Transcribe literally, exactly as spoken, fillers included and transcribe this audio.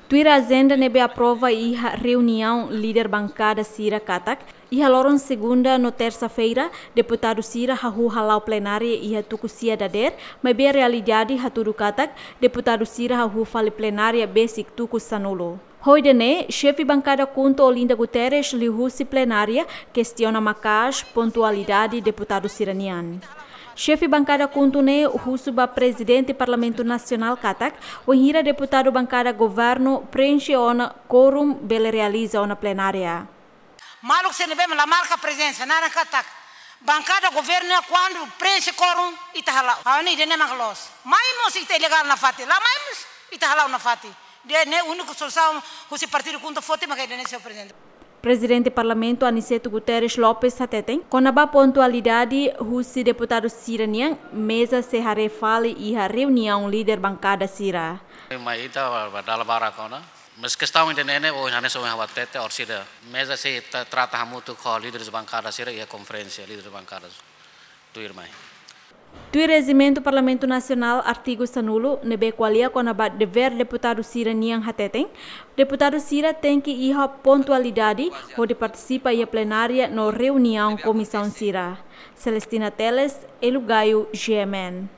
Tuir ajenda ne'ebé aprova iha reuniaun líder bankada sira katak, iha loron segunda no tersa-feira, deputadu sira hahú hala'o plenária iha tuku sia dadeer, maibé realidade hatudu katak, deputadu sira hahú fali plenária besik tuku sanulu. Ho ida-ne'e, xefe bankada KHUNTO Olinda Guterres liuhusi plenária kestiona maka'as pontualidade deputadu sira-nian. Xefe bankada KHUNTO ne'e husu ba prezidente Parlamentu Nasionál katak, wainhira deputadu bankada governu preenxe ona kuorum bele realiza ona plenária. Maluk sira ne'ebé la marka prezensa, naran katak bankada governu ne'e kuandu preenxe kuorum ita hala'o. Ha'u hanoin ida-ne'e mak loos. Mai mós ita ilegál nafatin, la mai mós ita hala'o nafatin. Ida-ne'e úniku solusaun husi partidu KHUNTO foti maka ida-ne'e, señór prezidente. Prezidente Parlamentu Aniceto Guterres Lopes hateten, kona-ba pontualidade husi deputadu sira-nian, meza sei haree fali iha reuniaun líder bankada sira. Mai ita ba dala barak ona. Mas kestaun ida-ne'e ne'e, ohin hanesan ohin ha'u hatete, orsida meza sei ta-, trata hamutuk ho líderes bankada sira iha konferénsia líderes bankada tuirmai. Tuir rejimentu Parlamentu Nasionál artigu sanulu, ne'ebé ko'alia kona-ba devér deputadu sira-nian hateten, deputadu sira tenke iha pontualidade hodi partisipa iha plenária no reuniaun komisaun sira. Celestina Teles, Elu Gayo, G M N.